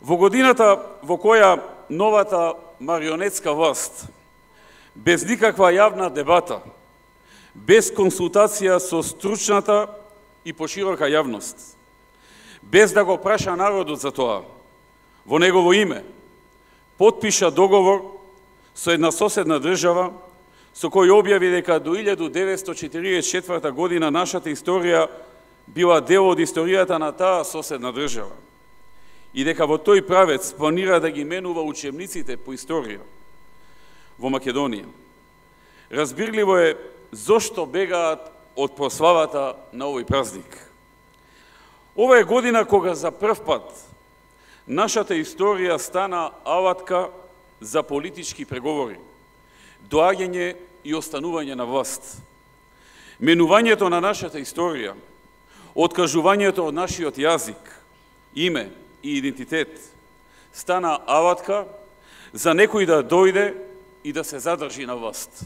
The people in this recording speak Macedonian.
Во годината во која новата марионетска власт, без никаква јавна дебата, без консултација со стручната и поширока јавност, без да го праша народот за тоа, во негово име, потпиша договор со една соседна држава, со кој објави дека до 1944 година нашата историја била дел од историјата на таа соседна држава и дека во тој правец планира да ги менува учебниците по историја во Македонија. Разбирливо е зошто бегаат од прославата на овој празник. Ова е година кога за прв пат нашата историја стана алатка за политички преговори, доаѓање и останување на власт. Менувањето на нашата историја, откажувањето од нашиот јазик, име и идентитет, стана алатка за некој да дојде и да се задржи на власт.